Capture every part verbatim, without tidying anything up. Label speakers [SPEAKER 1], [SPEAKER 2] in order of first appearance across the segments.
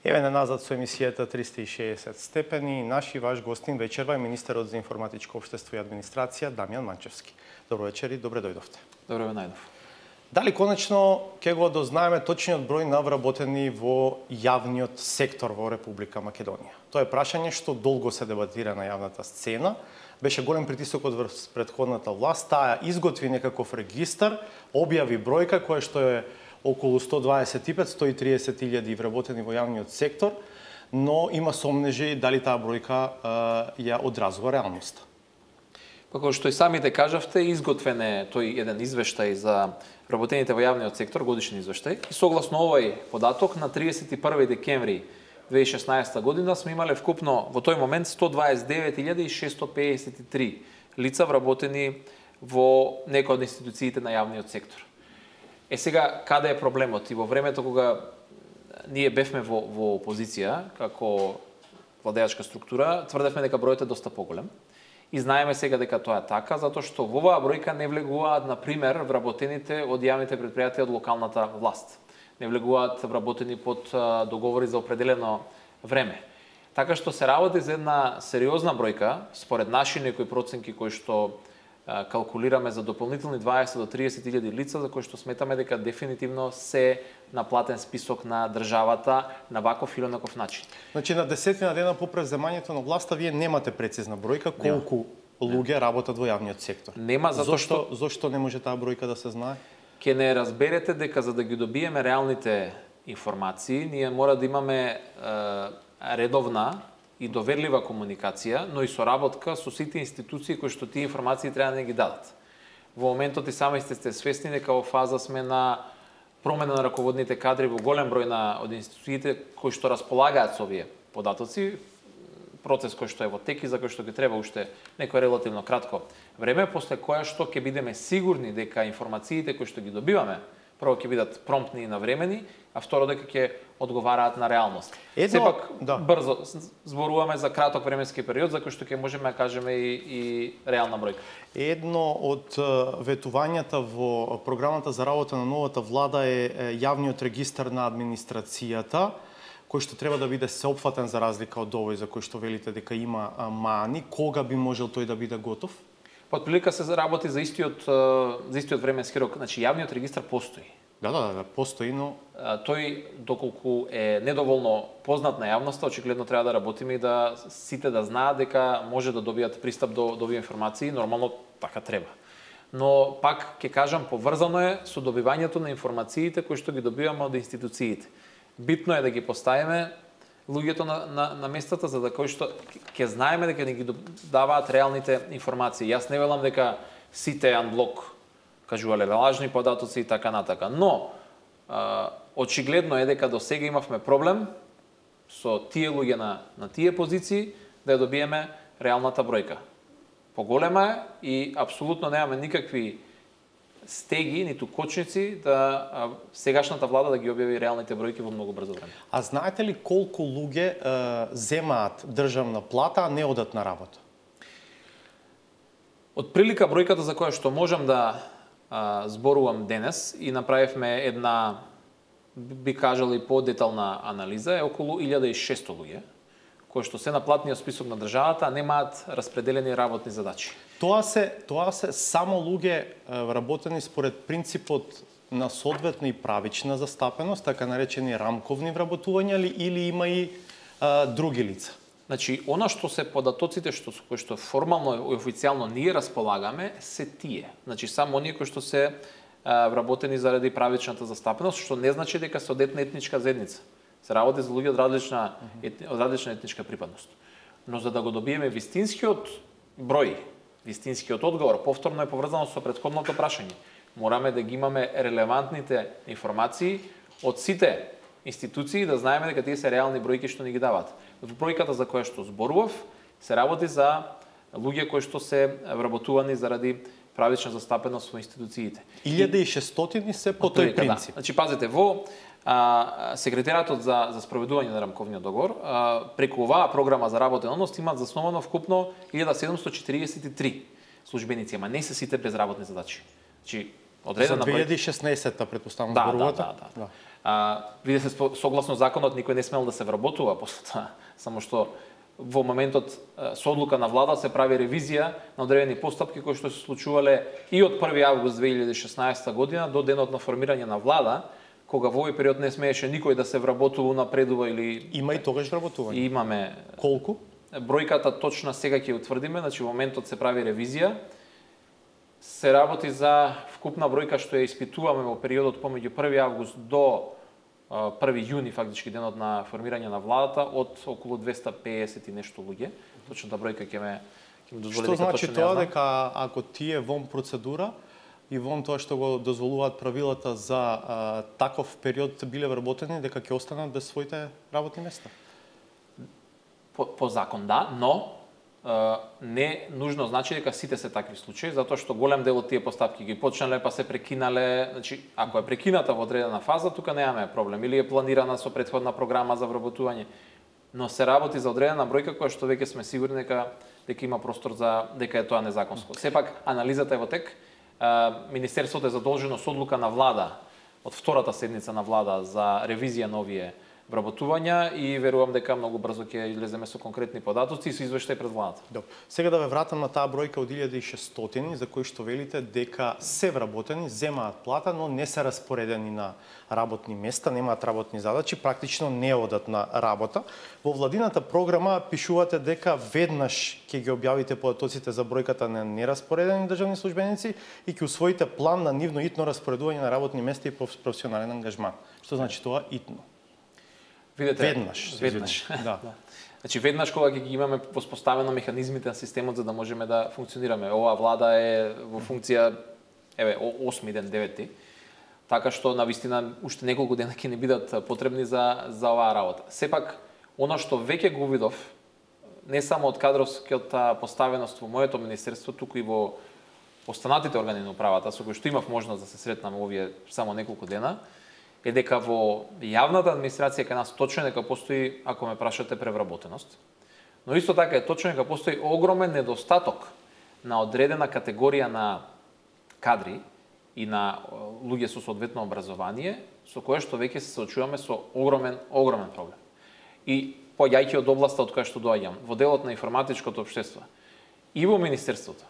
[SPEAKER 1] Еве на назад со емисијата триста и шеесет степени. Наши ваш гостин вечерва е министерот за информатичко општество и администрација Дамјан Манчевски. Добро вечер и добре дојдовте.
[SPEAKER 2] Добро ве најдов.
[SPEAKER 1] Дали конечно ќе го дознаеме точниот број на вработени во јавниот сектор во Република Македонија? Тоа е прашање што долго се дебатира на јавната сцена. Беше голем притисокот врз претходната власт, таа изготви некаков регистар, објави бројка која што е околу сто дваесет и пет до сто и триесет илјади вработени во јавниот сектор, но има сомнежи дали таа бројка ја одразува реалноста.
[SPEAKER 2] Како што и самите кажавте, изготвен е тој еден извештај за вработените во јавниот сектор, годишен извештај. И согласно овој податок на триесет и први декември две илјади и шеснаесета година сме имале вкупно во тој момент сто дваесет и девет илјади шестоста пеесет и три лица вработени во некоја од институциите на јавниот сектор. Е сега, каде е проблемот? И во времето кога ние бевме во, во опозиција, како владеачка структура, тврдевме дека бројот е доста поголем. И знаеме сега дека тоа е така, затоа што во оваа бројка не влегуваат, например, вработените од јавните предпријатија од локалната власт. Не влегуваат вработени под договори за определено време. Така што се работи за една сериозна бројка, според наши некои проценки кои што калкулираме за дополнителни дваесет до триесет илјади лица за кои што сметаме дека дефинитивно се на платен список на државата на ваков или онаков начин.
[SPEAKER 1] Значи на десетина дена по превземањето на власта вие немате прецизна бројка колку Нема. луѓе Нема. работат во јавниот сектор.
[SPEAKER 2] Нема затоа
[SPEAKER 1] што зошто не може таа бројка да се знае?
[SPEAKER 2] Ке не разберете дека за да ги добиеме реалните информации, ние мора да имаме е, редовна и доверлива комуникација, но и соработка со сите институции кои што тие информации треба да ги дадат. Во моментот и сами сте, сте свесни дека во фаза сме на промена на раководните кадри во голем број на од институциите кои што располагаат со овие податоци, процес кој што е во тек и за кој што ги треба уште некој релативно кратко време, после која што ќе бидеме сигурни дека информациите кои што ги добиваме прво ќе бидат промптни и навремени, а второ дека ќе одговараат на реалност.
[SPEAKER 1] Едно,
[SPEAKER 2] Сепак
[SPEAKER 1] да.
[SPEAKER 2] брзо зборуваме за краток временски период за кој што ќе можеме да кажеме и, и реална бројка.
[SPEAKER 1] Едно од ветувањата во програмата за работа на новата влада е јавниот регистар на администрацијата, кој што треба да биде сеопфатен за разлика од овој за кој што велите дека има мани. Кога би можел тој да биде готов?
[SPEAKER 2] Под прилика се работи за истиот за истиот временски рок. Значи јавниот регистар постои.
[SPEAKER 1] Да, да, да, постои, но
[SPEAKER 2] тој доколку е недоволно познат на јавноста, очигледно треба да работиме и да сите да знаат дека може да добијат пристап до до овие информации, нормално така треба. Но пак ќе кажам, поврзано е со добивањето на информациите кои што ги добиваме од институциите. Битно е да ги поставиме луѓето на, на, на местата, за да кој што ќе знаеме дека не ги даваат реалните информации. Јас не велам дека сите анблок кажувале лажни податоци и така натака. Но, а, очигледно е дека до сега имавме проблем со тие луѓе на, на тие позиции да ја добиеме реалната бројка. Поголема е и апсолутно немаме никакви стеги, ниту кочници да а, сегашната влада да ги објави реалните бројки во многу брзо време.
[SPEAKER 1] А знаете ли колку луѓе е, земаат државна плата, а не одат на работа?
[SPEAKER 2] Од прилика бројката за која што можам да а, зборувам денес и направивме една, би кажал и подетална анализа, е околу илјада и шесто луѓе, кои што се на платниот список на државата, а немаат распределени работни задачи.
[SPEAKER 1] Тоа се тоа се само луѓе вработени според принципот на соодветна и правична застапеност, така наречени рамковни вработувања ли, или има и а, други лица?
[SPEAKER 2] Значи, она што се податоците што кои што формално и официјално ние располагаме се тие. Значи само оние кои што се а, вработени заради правичната застапеност, што не значи дека се од етна етничка заедница. Се работи за луѓе од различна етни, од различна етничка припадност. Но за да го добиеме вистинскиот број, вистинскиот одговор, повторно е поврзано со претходното прашање. Мораме да ги имаме релевантните информации од сите институции да знаеме дека тие се реални бројки што ни ги даваат. Во бројката за која што зборував се работи за луѓе кои што се вработувани заради правична застапеност во институциите.
[SPEAKER 1] илјада и шестстотини се по тој принцип.
[SPEAKER 2] Да. Значи пазете, во а, секретаријатот за за спроведување на рамковниот договор а, преку оваа програма за работен однос имаат засновано вкупно илјада седумстотини четириесет и три службеници, ама не се сите безработни задачи. Значи одредена
[SPEAKER 1] за две илјади и шеснаесета претпоставам
[SPEAKER 2] да,
[SPEAKER 1] зборувате.
[SPEAKER 2] Да, да, да. да. А, видите, согласно законот никој не смел да се вработува после тоа, само што во моментот со одлука на влада се прави ревизија на одредени постапки кои што се случувале и од први август две илјади и шеснаесета година до денот на формирање на влада, кога во овој период не смееше никој да се вработува, напредува или
[SPEAKER 1] Има и тогаш вработување.
[SPEAKER 2] Имаме.
[SPEAKER 1] Колку?
[SPEAKER 2] Бројката точна сега ќе утврдиме, значи во моментот се прави ревизија. Се работи за вкупна бројка што ја испитуваме во периодот помеѓу први август до први јуни, фактички денот на формирање на владата, од околу двесте пеесет и нешто луѓе. Точната бројка ќе ме ќе ме дозволи
[SPEAKER 1] Што
[SPEAKER 2] дека
[SPEAKER 1] значи
[SPEAKER 2] точно
[SPEAKER 1] тоа
[SPEAKER 2] не ја знам.
[SPEAKER 1] дека ако тие вон процедура и вон тоа што го дозволуваат правилата за а, таков период биле вработени, дека ќе останат без своите работни места?
[SPEAKER 2] По, по закон да, но Uh, не нужно значи дека сите се такви случаи, затоа што голем дел од тие постапки ги почнале па се прекинале, значи ако е прекината во одредена фаза, тука немаме проблем, или е планирана со претходна програма за вработување, но се работи за одредена бројка која што веќе сме сигурни дека дека има простор за дека е тоа незаконско. Сепак анализата е во тек. Uh, Министерството е задолжено со одлука на влада од втората седница на влада за ревизија на овие вработувања и верувам дека многу брзо ќе излеземе со конкретни податоци и со извештај пред владата.
[SPEAKER 1] Добро. Сега да ве вратам на таа бројка од илјада и шестстотини за кои што велите дека се вработени, земаат плата, но не се распоредени на работни места, немаат работни задачи, практично не одат на работа. Во владината програма пишувате дека веднаш ќе ги објавите податоците за бројката на нераспоредени државни службеници и ќе усвоите план на нивно итно распоредување на работни места и професионален ангажман. Што значи тоа итно?
[SPEAKER 2] Видете,
[SPEAKER 1] веднаш,
[SPEAKER 2] веднаш.
[SPEAKER 1] Да.
[SPEAKER 2] Да. Значи веднаш кога ќе ги имаме воспоставено механизмите на системот за да можеме да функционираме. Оваа влада е во функција еве осми ден, деветти. Така што навистина уште неколку дена ќе не бидат потребни за за оваа работа. Сепак она што веќе го видов не само од кадровската поставеност во моето министерство, туку и во останатите органи на управата со кои што имав можност да се сретнам овие само неколку дена, е дека во јавната администрација кај нас точно дека постои, ако ме прашате, превработеност. Но исто така е точно дека постои огромен недостаток на одредена категорија на кадри и на луѓе со соодветно образование, со кое што веќе се соочуваме со огромен, огромен проблем. И поаѓајќи од областа од која што доаѓам, во делот на информатичкото општество, и во министерството,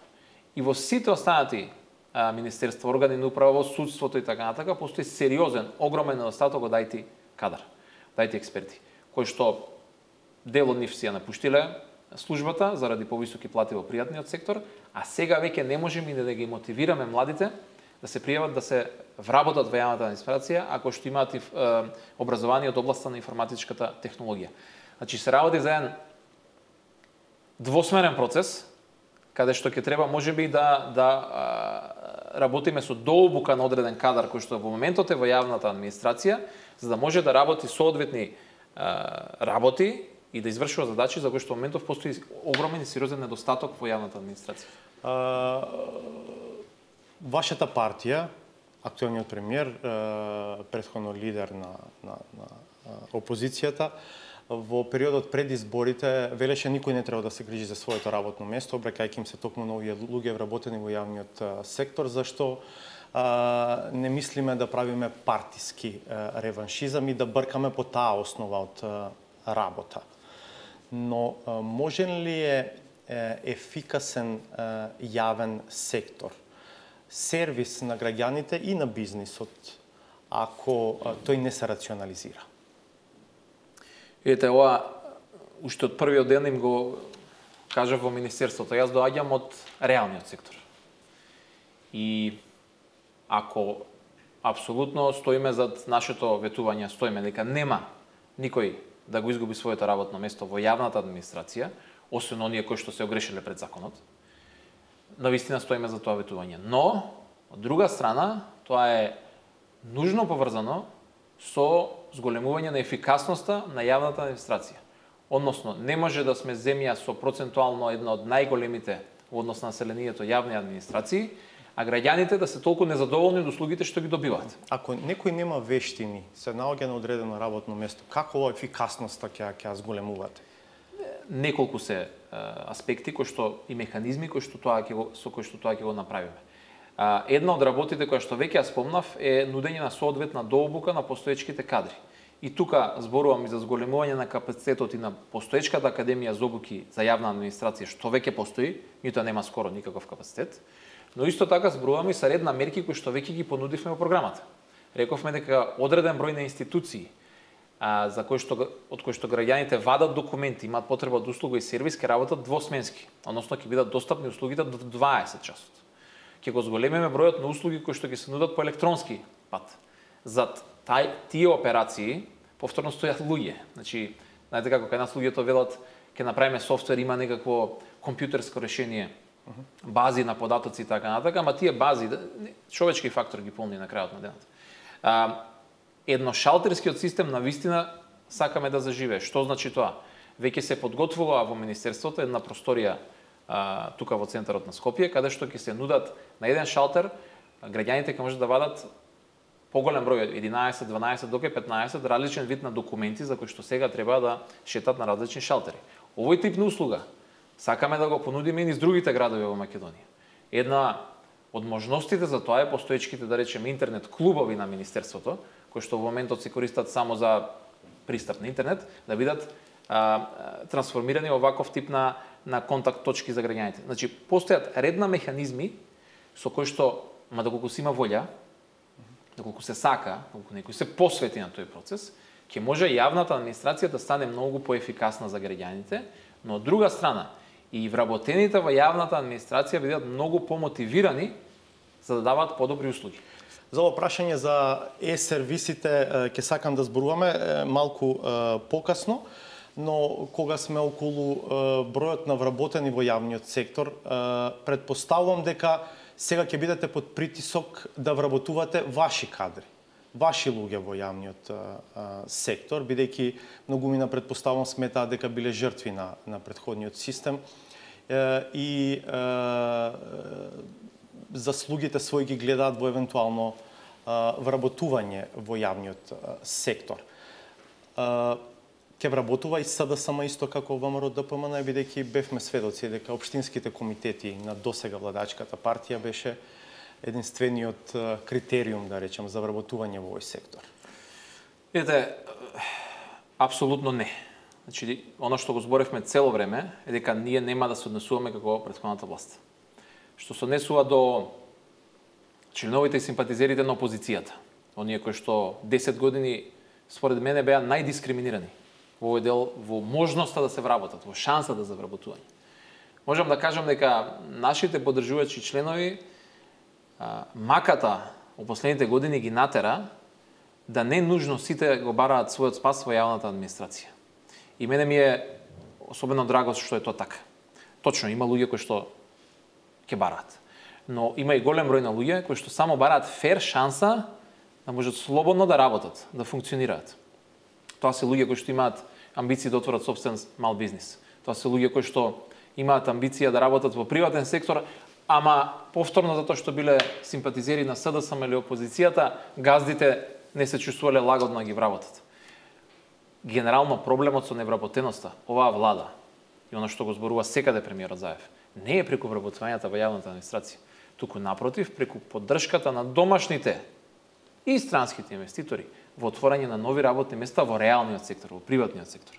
[SPEAKER 2] и во сите останати министерство, органи на управа, во судството и така натака, постои сериозен, огромен недостаток од ай ти кадар, од ай ти експерти, кои што дел од нив си ја напуштиле службата заради повисоки плати во пријатниот сектор, а сега веќе не можеме да ги мотивираме младите да се пријават да се вработат во јавната администрација ако што имаат образование од областа на информатичката технологија. Значи се работи за еден двосмерен процес, каде што ќе треба можеби да да а, работиме со дообука на одреден кадар кој што во моментот е во јавната администрација, за да може да работи соодветни а, работи и да извршува задачи за кои што во моментов постои огромен и сериозен недостаток во јавната администрација.
[SPEAKER 1] А, вашата партија, актуелниот премиер, претходно лидер на, на, на опозицијата, во периодот пред изборите велеше никој не треба да се грижи за своето работно место, обрекајќи им се токму на овие луѓе вработени во јавниот сектор, зашто а, не мислиме да правиме партиски а, реваншизам и да бркаме по таа основа од а, работа. Но а, можен ли е, е ефикасен а, јавен сектор, сервис на граѓаните и на бизнисот, ако а, тој не се рационализира?
[SPEAKER 2] Видете, ова уште од првиот ден им го кажав во министерството. Јас доаѓам од реалниот сектор. И ако апсолутно стоиме зад нашето ветување, стоиме дека нема никој да го изгуби своето работно место во јавната администрација, освен оние кои што се огрешиле пред законот, навистина стоиме за тоа ветување. Но, од друга страна, тоа е нужно поврзано со зголемување на ефикасноста на јавната администрација. Односно, не може да сме земја со процентуално една од најголемите во однос на населението јавни администрации, а граѓаните да се толку незадоволни од услугите што ги добиваат.
[SPEAKER 1] Ако некој нема вештини, се наоѓа на одредено работно место, како ова ефикасноста ќе ќе зголемувате?
[SPEAKER 2] Неколку се аспекти кои што и механизми кои што тоа ќе го со кои што тоа ќе го направиме. А, една од работите која што веќе ја спомнав е нудење на соодветна дообука на постоечките кадри. И тука зборувам и за зголемување на капацитетот и на постоечката академија за обуки за јавна администрација, што веќе постои, меѓутоа нема скоро никаков капацитет. Но исто така зборувам и за ред на мерки кои што веќе ги понудивме во програмата. Рековме дека одреден број на институции а, за кои што од кои што граѓаните вадат документи, имаат потреба од услуга и сервис, ќе работат двосменски, односно ќе бидат достапни услугите до дваесет часот. Ќе го зголемиме бројот на услуги кои што ќе се нудат по електронски пат. Зад тај тие операции повторно стојат луѓе. Значи, знаете како кај нас луѓето велат ќе направиме софтвер, има некакво компјутерско решение, бази на податоци и така натака, ама тие бази, човечки фактор ги полни на крајот на денот. А, едношалтерскиот систем на вистина сакаме да заживее. Што значи тоа? Веќе се подготвува во министерството една просторија а, тука во центарот на Скопје, каде што ќе се нудат на еден шалтер, граѓаните ќе можат да вадат поголем број, единаесет, дванаесет, доке петнаесет, различен вид на документи за кои што сега треба да шетат на различни шалтери. Овој тип на услуга сакаме да го понудиме и низ другите градови во Македонија. Една од можностите за тоа е постоечките, да речеме, интернет клубови на министерството, кои што во моментот се користат само за пристап на интернет, да бидат а, трансформирани во ваков тип на, на контакт точки за граѓаните. Значи, постојат ред на механизми со кои што, ма доколку се има волја, доколку се сака, доколку некој се посвети на тој процес, ќе може јавната администрација да стане многу поефикасна за граѓаните, но од друга страна, и вработените во јавната администрација бидат многу помотивирани за да даваат подобри услуги.
[SPEAKER 1] За ово прашање за е-сервисите ќе сакам да зборуваме малку покасно, но кога сме околу бројот на вработени во јавниот сектор, предпоставувам дека сега ќе бидете под притисок да вработувате ваши кадри, ваши луѓе во јавниот а, сектор, бидејќи многумина предпоставувам сметаат дека биле жртви на, на претходниот систем е, и е, заслугите своји ги гледаат во евентуално а, вработување во јавниот а, сектор. А, Ке вработува и СДСМ исто како ВМРО ДПМН, бидејќи бевме сведоци дека општинските комитети на досега владачката партија беше единствениот критериум, да речем, за вработување во овој сектор.
[SPEAKER 2] Видете, апсолутно не. Значи, оно што го зборевме цело време е дека ние нема да се однесуваме како претходната власт. Што се однесува до членовите и симпатизерите на опозицијата, оние кои што десет години според мене беа најдискриминирани во овој дел, во можноста да се вработат, во шанса да за вработување. Можам да кажам дека нашите поддржувачи членови а, маката во последните години ги натера да не нужно сите го бараат својот спас во јавната администрација. И мене ми е особено драго што е тоа така. Точно, има луѓе кои што ќе бараат. Но има и голем број на луѓе кои што само бараат фер шанса да можат слободно да работат, да функционираат. Тоа се луѓе кои што имаат амбиции да отворат собствен мал бизнис. Тоа се луѓе кои што имаат амбиција да работат во приватен сектор, ама повторно затоа што биле симпатизери на СДСМ или опозицијата, газдите не се чувствувале лагодно да ги вработат. Генерално проблемот со невработеноста, оваа влада, и оно што го зборува секаде премиерот Заев, не е преку вработувањата во јавната администрација, туку напротив, преку поддршката на домашните и странските инвеститори во отворање на нови работни места во реалниот сектор, во приватниот сектор.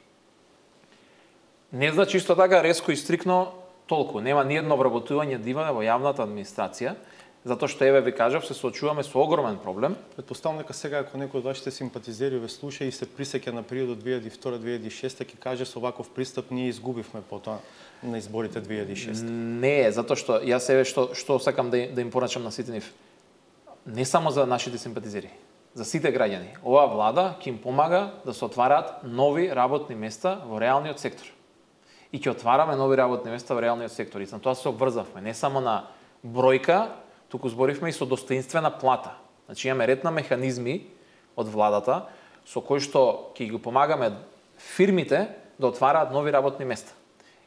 [SPEAKER 2] Не значи исто така резко и стрикно толку. Нема ни едно вработување да има во јавната администрација, затоа што еве ви кажав, се соочуваме со огромен проблем.
[SPEAKER 1] Предпоставам дека сега ако некој од вашите симпатизери ве слуша и се присеќа на периодот две илјади и втора - две илјади и шеста, ќе каже со ваков пристап ние изгубивме потоа на изборите две илјади и шеста.
[SPEAKER 2] Не е, затоа што јас еве што што сакам да да им порачам на сите нив. Не само за нашите симпатизери, за сите граѓани. Оваа влада ќе им помага да се отвараат нови работни места во реалниот сектор. И ќе отвараме нови работни места во реалниот сектор. И на тоа се обврзавме, не само на бројка, туку зборивме и со достоинствена плата. Значи имаме ред на механизми од владата со кои што ќе ги помагаме фирмите да отвараат нови работни места.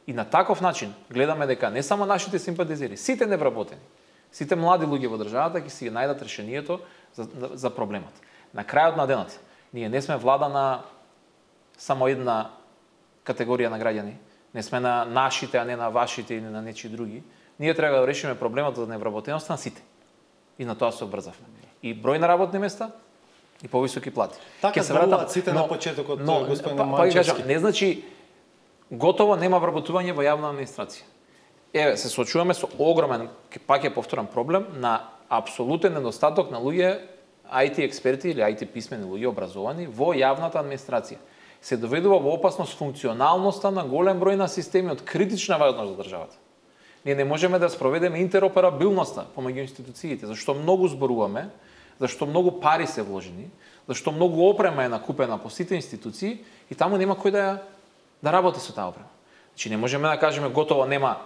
[SPEAKER 2] И на таков начин гледаме дека не само нашите симпатизери, сите невработени, сите млади луѓе во државата ќе си најдат решението за, за проблемот. На крајот на денот, ние не сме влада на само една категорија на граѓани, не сме на нашите, а не на вашите или на нечи други. Ние треба да решиме проблемот за невработеноста на сите. И на тоа се обрзавме. И број на работни места и повисоки плати.
[SPEAKER 1] Така се вратам ците на почетокот, господин Манчевски.
[SPEAKER 2] Па, не значи готово нема вработување во јавна администрација. Еве, се соочуваме со огромен, пак е повторен проблем на апсолутен недостаток на луѓе ај ти експерти или ај ти писмени луѓе образовани во јавната администрација. Се доведува во опасност функционалноста на голем број на системи од критична важност за државата. Ние не можеме да спроведеме интероперабилноста помеѓу институциите, зашто многу зборуваме, зашто многу пари се вложени, зашто многу опрема е накупена по сите институции и таму нема кој да ја да работи со таа опрема. Значи не можеме да кажеме готово нема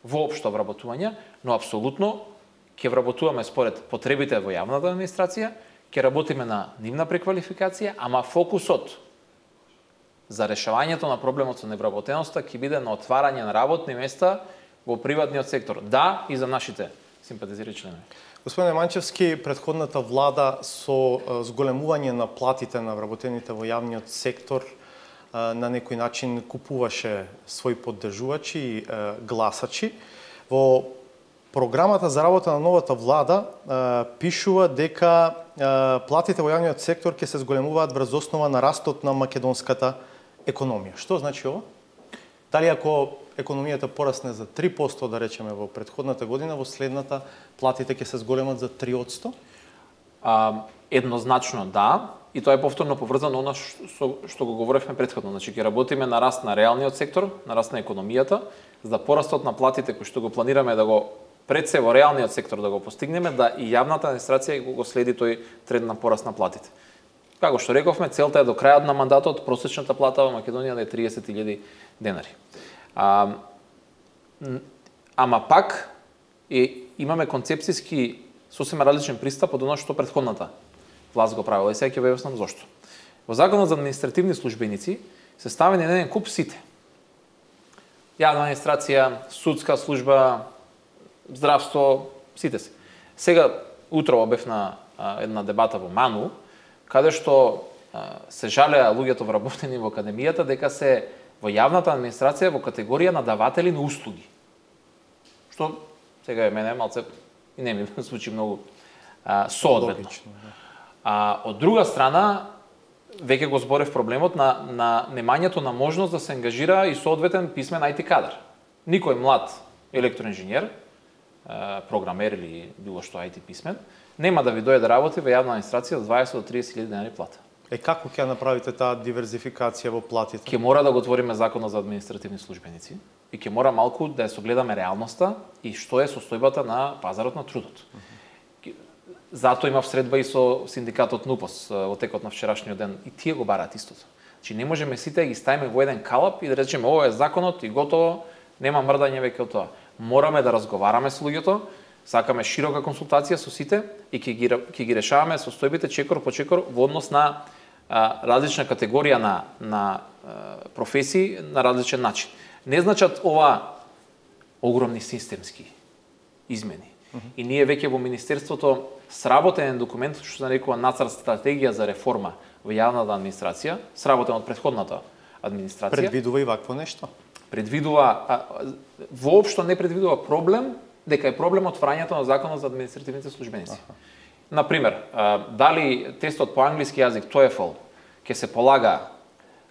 [SPEAKER 2] воопшто вработување, но апсолутно ќе вработуваме според потребите во јавната администрација, ќе работиме на нивна преквалификација, ама фокусот за решавањето на проблемот со невработеноста ќе биде на отварање на работни места во приватниот сектор. Да, и за нашите симпатизири членови.
[SPEAKER 1] Господине Манчевски, претходната влада со зголемување на платите на вработените во јавниот сектор на некој начин купуваше своји поддржувачи и гласачи. Во програмата за работа на новата влада пишува дека платите во јавниот сектор ќе се зголемуваат врз основа на растот на македонската економија. Што значи ова? Дали ако економијата порасне за три проценти, да речеме, во претходната година, во следната платите ќе се зголемат за три проценти?
[SPEAKER 2] А, еднозначно да, и тоа е повторно поврзано она што, што го говоревме претходно. Значи ќе работиме на раст на реалниот сектор, на раст на економијата, за да порастот на платите кои што го планираме да го пред се во реалниот сектор да го постигнеме, да и јавната администрација го следи тој тренд на пораст на платите. Како што рековме, целта е до крајот на мандатот просечната плата во Македонија да е триесет илјади денари. А, ама пак е, имаме концепцијски сосема различен пристап од оно што претходната власт го правила и сега ќе ве објаснам зошто. Во Законот за административни службеници се ставени еден куп сите. Јавна администрација, судска служба, здравство, сите се. Сега утро обев на а, една дебата во Ману, каде што а, се жалеа луѓето вработени во академијата дека се во јавната администрација во категорија на даватели на услуги. Што сега е мене малце и не ми звучи многу а, соодветно. А од друга страна веќе го зборев проблемот на на немањето на можност да се ангажира и соодветен писмен ај ти кадар. Никој млад електроинженер, програмер или било што ај ти писмен, нема да ви дојде да работи во јавна администрација од дваесет до триесет илјади денари плата.
[SPEAKER 1] Е како ќе направите таа диверзификација во платите?
[SPEAKER 2] Ќе мора да го отвориме Законот за административни службеници и ќе мора малку да ја согледаме реалноста и што е состојбата на пазарот на трудот. Uh-huh. Затоа имав средба и со синдикатот НУПОС во текот на вчерашниот ден и тие го бараат истото. Значи не можеме сите да ги ставиме во еден калап и да речеме ова е законот и готово, нема мрдање веќе од тоа. Мораме да разговараме со луѓето, сакаме широка консултација со сите и ќе ги ќе ги решаваме состојбите чекор по чекор во однос на а, различна категорија на на а, професии на различен начин. Не значат ова огромни системски измени. Uh-huh. И ние веќе во министерството сработен документ што се нарекува нацрт стратегија за реформа во јавната администрација, сработен од претходната администрација.
[SPEAKER 1] Предвидува и вакво нешто?
[SPEAKER 2] Предвидува а, воопшто не предвидува проблем дека е проблем отврањето на Законот за административните службеници. Uh-huh. Например, а, дали тестот по англиски јазик TOEFL ќе се полага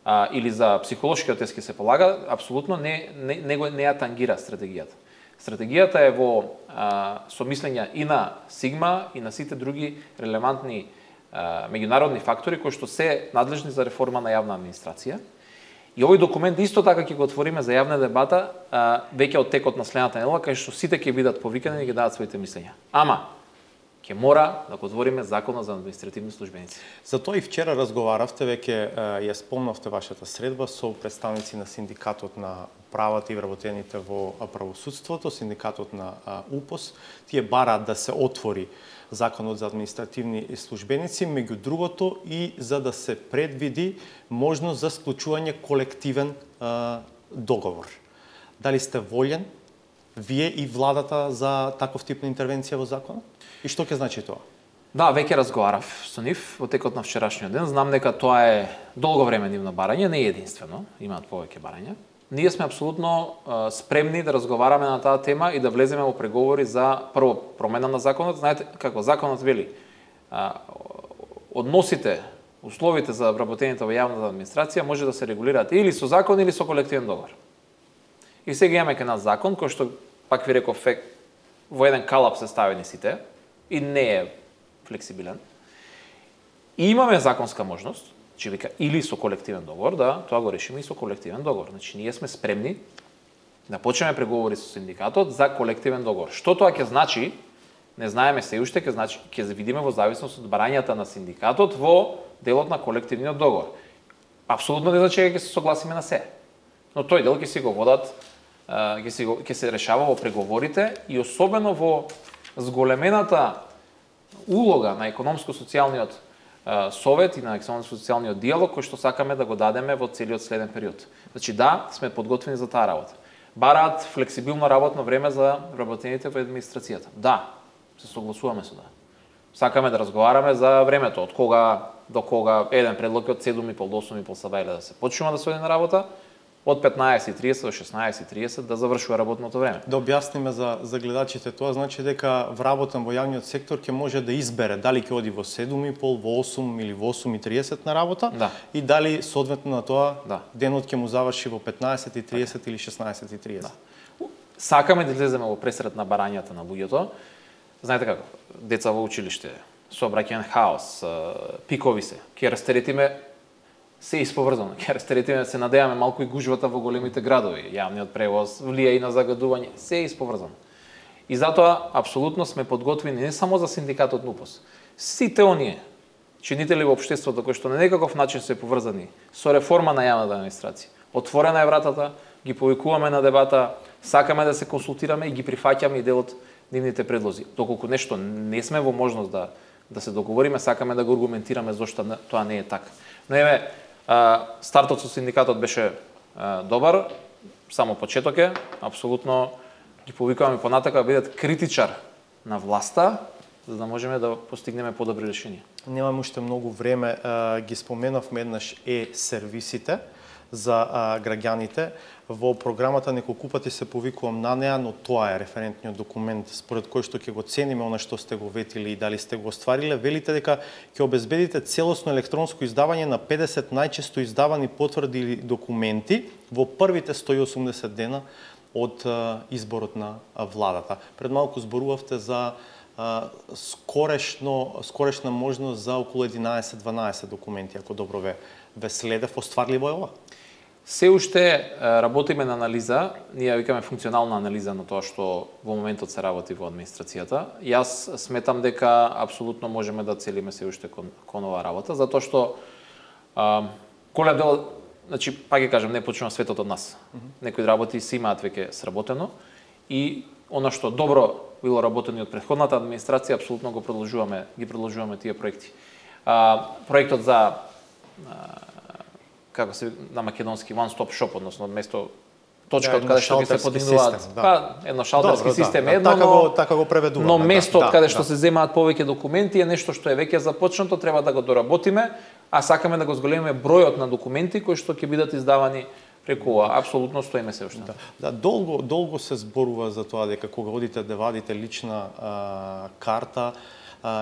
[SPEAKER 2] а, или за психолошкиот тест ќе се полага, апсолутно не не не го не ја тангира стратегијата. Стратегијата е во а, сомислење и на Сигма и на сите други релевантни а, меѓународни фактори кои што се надлежни за реформа на јавна администрација. И овој документ исто така ќе го отвориме за јавна дебата а, веќе од текот на следната недела, кај што сите ќе бидат повикани и ќе дадат своите мислења. Ама ќе мора да го отвориме Законот за административни службеници.
[SPEAKER 1] За тоа и вчера разговаравте, веќе ја спомнавте вашата средба со представници на синдикатот на правата и вработените во правосудството, синдикатот на УПОС. Тие бараат да се отвори Законот за административни службеници, меѓу другото и за да се предвиди можност за склучување колективен а, договор. Дали сте волен вие и владата за таков тип на интервенција во законот? И што ќе значи тоа?
[SPEAKER 2] Да, веќе разговарав со нив во текот на вчерашниот ден. Знам дека тоа е долго време нивно барање, не е единствено, имаат повеќе барања. ние сме апсолутно а, спремни да разговараме на таа тема и да влеземе во преговори за прво промена на законот. Знаете како законот вели, а, односите, условите за вработените во јавната администрација може да се регулираат или со закон или со колективен договор. И сега имаме кај нас закон кој што пак ви реков во еден калап се ставени сите и не е флексибилен. И имаме законска можност, че вика или со колективен договор, да, тоа го решиме и со колективен договор. Значи ние сме спремни да почнеме преговори со синдикатот за колективен договор. Што тоа ќе значи? Не знаеме се уште, ќе значи ќе видиме во зависност од барањата на синдикатот во делот на колективниот договор. Апсолутно не значи дека ќе се согласиме на се. Но тој дел ќе си го водат, ќе се ќе се решава во преговорите и особено во зголемената улога на економско-социјалниот совет и на економско-социјалниот диалог кој што сакаме да го дадеме во целиот следен период. Значи да, сме подготвени за таа работа. Бараат флексибилно работно време за вработените во администрацијата. Да, се согласуваме со да. Сакаме да разговараме за времето, од кога до кога. Еден предлог е од седум и пол до осум и пол саба да се почнува да се оди на работа, од петнаесет и триесет до шеснаесет и триесет да завршува работното време.
[SPEAKER 1] Да објасниме за, за гледачите, тоа значи дека вработен во јавниот сектор ќе може да избере дали ќе оди во седум и пол, во осум или во осум и триесет на работа,
[SPEAKER 2] да.
[SPEAKER 1] И дали соодветно на тоа
[SPEAKER 2] да.
[SPEAKER 1] денот ќе му заврши во петнаесет и триесет така. Или шеснаесет и триесет.
[SPEAKER 2] Да. Сакаме да излеземе во пресред на барањата на луѓето. Знаете како, деца во училиште, сообраќаен хаос, пикови се, ќе растеретиме се исповрзано. Ќе растеретиме, се надеваме малку и гужвата во големите градови. Јавниот превоз влија и на загадување, се исповрзано. И затоа апсолутно сме подготвени не само за синдикатот НУПОС. Сите оние чинители во општеството кои што на некаков начин се поврзани со реформа на јавната администрација. Отворена е вратата, ги повикуваме на дебата, сакаме да се консултираме и ги прифаќаме и дел од нивните предлози. Доколку нешто не сме во можност да да се договориме, сакаме да го аргументираме зошто тоа не е така. Но еве, стартот со синдикатот беше добар, само почеток е, апсолутно ги повикуваме понатака да бидат критичар на власта, за да можеме да постигнеме подобри решенија.
[SPEAKER 1] Немаме уште многу време, ги споменавме еднаш е-сервисите за граѓаните. Во програмата неколку пати се повикувам на неа, но тоа е референтниот документ според кој што ќе го цениме она што сте го ветили и дали сте го оствариле. Велите дека ќе обезбедите целосно електронско издавање на педесет најчесто издавани потврди или документи во првите сто и осумдесет дена од изборот на владата. Пред малку зборувавте за скорешно скорешна можност за околу единаесет-дванаесет документи, ако добро ве ве следев. Остварливо е ова?
[SPEAKER 2] Се уште работиме на анализа, ние викаме функционална анализа на тоа што во моментот се работи во администрацијата. Јас сметам дека апсолутно можеме да целиме се уште кон, кон оваа работа, затоа што а, голем дел, значи, пак ќе кажам, не почнува светот од нас. Mm-hmm. Некои работи се имаат веќе сработено и она што добро било работено од претходната администрација, апсолутно го продолжуваме, ги продолжуваме тие проекти. А, проектот за а, како се на македонски one stop shop, односно место точка од каде што ќе се подигнуваат, да. Па едно шалтерски Добро, систем, да, едно,
[SPEAKER 1] така го така го преведуваме.
[SPEAKER 2] Но место од
[SPEAKER 1] да,
[SPEAKER 2] каде
[SPEAKER 1] да,
[SPEAKER 2] што
[SPEAKER 1] да.
[SPEAKER 2] се земаат повеќе документи е нешто што е веќе започнато, треба да го доработиме, а сакаме да го зголемиме бројот на документи кои што ќе бидат издавани преку ова. Апсолутно стоиме се уште.
[SPEAKER 1] Да, да, долго долго се зборува за тоа дека кога одите да вадите лична а, карта,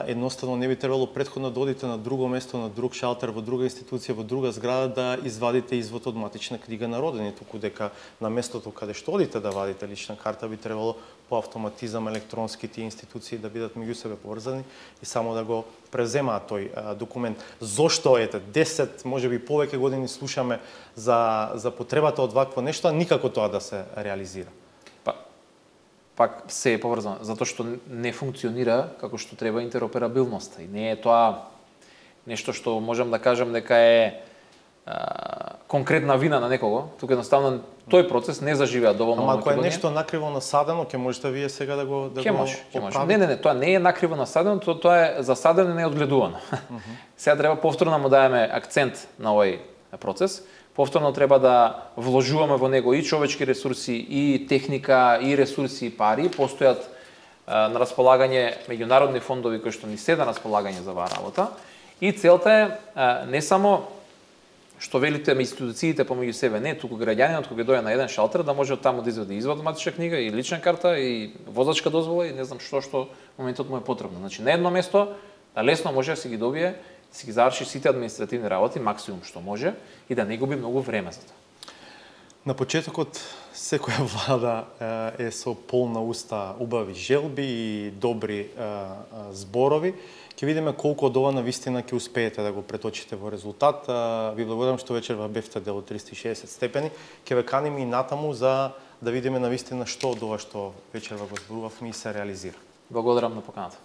[SPEAKER 1] едноставно не би требало претходно да одите на друго место, на друг шалтер, во друга институција, во друга зграда да извадите извод од матична книга на родени, туку дека на местото каде што одите да вадите лична карта би требало по автоматизам електронски тие институции да бидат меѓу себе поврзани и само да го преземаат тој а, документ. Зошто ете десет, можеби повеќе години слушаме за за потребата од вакво нешто, а никако тоа да се реализира?
[SPEAKER 2] Пак се е поврзано, затоа што не функционира како што треба интероперабилноста. И не е тоа нешто што можам да кажам дека е а, конкретна вина на некого. Тука едноставно тој процес не заживеа доволно.
[SPEAKER 1] Ама ако е нешто накриво насадено, ќе можете вие сега да го да
[SPEAKER 2] ќе
[SPEAKER 1] го
[SPEAKER 2] може, ќе може. Не, не, не, тоа не е накриво насадено, тоа, тоа е засадено и не е одгледувано. Uh -huh. Сега треба повторно му даваме акцент на овој процес. Повторно треба да вложуваме во него и човечки ресурси, и техника, и ресурси, и пари. Постојат а, на располагање меѓународни фондови кои што ни се на располагање за оваа работа. И целта е а, не само што велите институциите помеѓу себе, не, туку граѓанинот кога дојде на еден шалтер да може од таму да извади извод матична книга и лична карта и возачка дозвола и не знам што што моментот му е потребно. Значи на едно место да лесно може да си ги добие, да си ги заврши сите административни работи максимум што може и да не губи многу време за тоа.
[SPEAKER 1] На почетокот секоја влада е со полна уста убави желби и добри зборови. Ќе видиме колку од ова навистина ќе успеете да го преточите во резултат. Ви благодарам што вечерва бевте дел од триста и шеесет степени. Ќе ве каниме и натаму за да видиме навистина што од ова што вечерва го зборувавме и се реализира.
[SPEAKER 2] Благодарам на поканата.